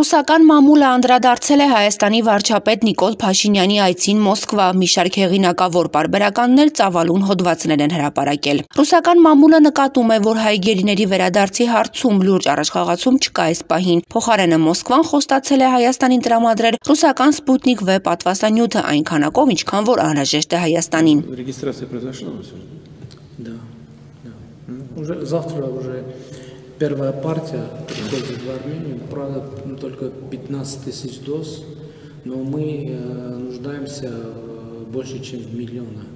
Ռուսական մամուլը անդրադարձել է Հայաստանի վարչապետ Նիկոլ Փաշինյանի այցին Մոսկվա, մի շարք հեղինակավոր պարբերականներ ծավալուն հոդվածներ են հրապարակել։ Ռուսական մամուլը նկատում է, որ հայ գերիների վերադարձի հարցում լուրջ առաջխաղացում չկա այս պահին։ Փոխարենը Մոսկվան խոստացել է Հայաստանին տրամադրել ռուսական Սպուտնիկ V պատվաստանյութը այն քանակով, ինչքան որ անհրաժեշտ է Հայաստանին։ Первая партия приходит в Армению, правда, только 15 тысяч доз, но мы нуждаемся больше, чем в миллиона.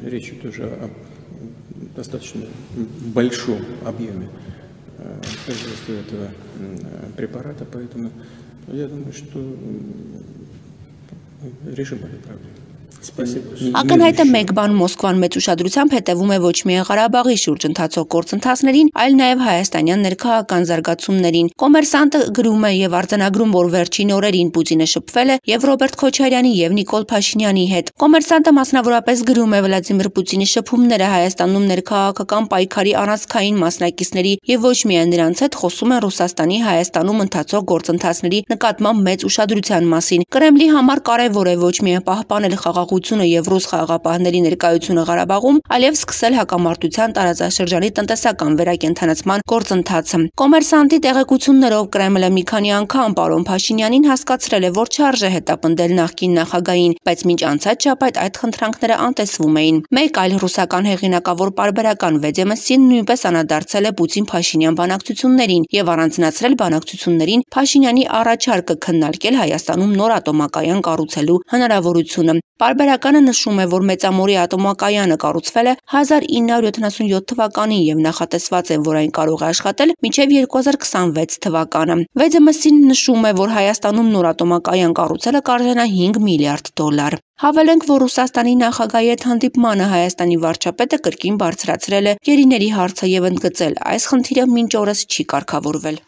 Речь идет уже о достаточно большом объеме производства этого препарата, поэтому я думаю, что решим эту проблему. Ակնհայտ է մեկ բան Մոսկվան մեծ ուշադրությամբ հետևում է ոչ միայն Ղարաբաղի շուրջ ընթացող գործընթացներին, այլ նաև հայաստանյան ներքաղաքական զարգացումներին։ Կոմերսանտը գրում է եւ արձանագրում, որ վերջին օրերին Պուտինը շփվել է եւ Ռոբերտ Քոչարյանի եւ Նիկոլ Փաշինյանի հետ։ Կոմերսանտը մասնավորապես գրում է Վլադիմիր Պուտինի շփումները Հայաստանում ներքաղաքական պայքարի առանցքային մասնակիցների եւ ոչ միայն նրանց հետ խոսում են Ռուսաստանի Հայաստանում ընթացող գործընթացների նկատմամբ մեծ ուշադրության մասին։ Կրեմլի համար կարեւոր է ոչ միայն պահպանել խաղաղությունը եւ ռուս խաղաղապահների ներկայությունը Ղարաբաղում, այլև սկսել հակամարտության տարածաշրջանի տնտեսական վերակենդանացման գործընթացը։ Կոմերսանտի տեղեկություններով Կրեմլը մի քանի անգամ պարոն Փաշինյանին հասկացրել է, որ չարժե հետապնդել նախկին նախագահին, բայց մինչ անցած շաբաթ այդ խնդրանքները անտեսվում էին։ Մեկ այլ ռուսական հեղինակավոր պարբերական Վեդեմստին նույնպես անդրադարձել է Պուտին-Փաշինյան բանակցություններին եւ առանձնացրել բանակցություններին Փաշինյանի առաջարկը քննարկել Հայաստանում նոր ատոմակայան կառուցելու հնարավորությունը։ Պարբերականը նշում է, որ Մեծամորի ատոմակայանը կառուցվել է 1977 թվականին եւ նախատեսված է, որ այն կարող է աշխատել մինչեւ 2026 թվականը։ Վեդեմստին նշում է, որ Հայաստանում նոր ատոմակայան կառուցելը կարժենա $5 միլիարդ։ Հավելենք, որ Ռուսաստանի նախագահի հետ հանդիպմանը Հայաստանի վարչապետը կրկին բարձրացրել է գերիների հարցը եւ ընդգծել, այս խնդիրը մինչ օրս չի կարգավորվել։